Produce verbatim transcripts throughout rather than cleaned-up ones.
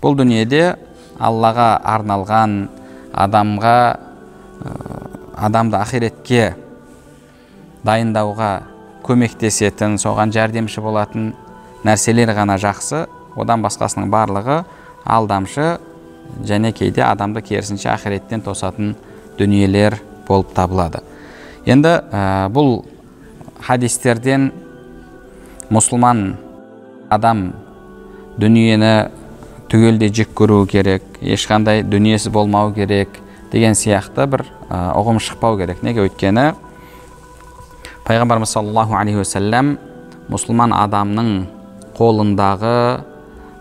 Бул дүниеде Аллага арналган, адамга адамды ахиретке дайындауга көмектесетін, соған жардамчы болатын нәрселер гана жакшы, одан башкасынын барлыгы алдамшы және кейде адамды керісінше ахиреттен тосатын дүниелер болып табылады. Енді бұл хадистерден мусулман адам дүниені түгелдей жек көрүү керек, ешқандай дүниесі болмау керек деген сияқты бір ұғым шықпау керек. Неге? Өйткені Пайғамбарымыз саллаллаху алейхи ва саллям мусулман адамның қолындағы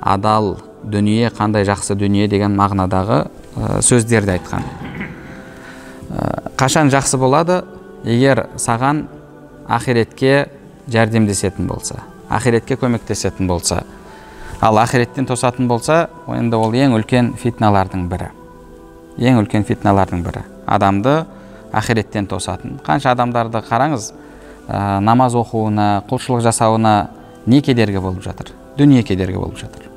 адал дүние қандай жақсы дүние деген мағынадағы сөздерді айтқан. Қашан жақсы болады? Егер саған ахиретке жәрдемдесетін болса, ахиретке көмектесетін болса. Ал ахиреттен тосатын болса, енді ол ең үлкен фитналардың бірі. Ең үлкен фитналардың бірі. Адамды ахиреттен тосатын. Қанша адамдарды қараңыз, намаз оқуына, құлшылық жасауына не кедергі болып жатыр? Дүние кедергі болып жатыр.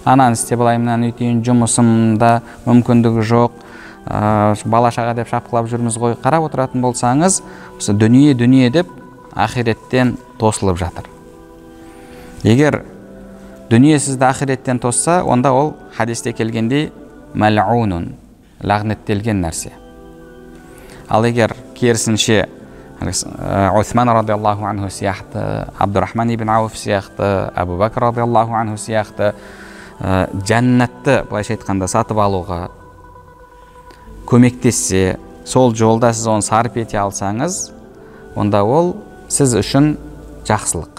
Ананы істеп алайымнан үйтейін, жұмысымда мүмкіндігі жоқ, бала шаға деп шапқылап жүрміз ғой. Қарап отыратын болсаңыз, осы дүние дүние деп ахиреттен тосылып жатыр. Егер дүние сізді ахиреттен тосса, онда ол хадисте келгендей мал'унун, лағнеттелген нәрсе. Ал егер керісінше Усман радиаллаху анху сияқты, Абдурахман ибн Ауф сияқты, Абу Бакр радиаллаху анху сияқты жәннатты былайша айтқанда сатып алуға көмектессе, сол жолда сіз оны сарп ете алсаңыз, онда ол сіз үшін жақсылық.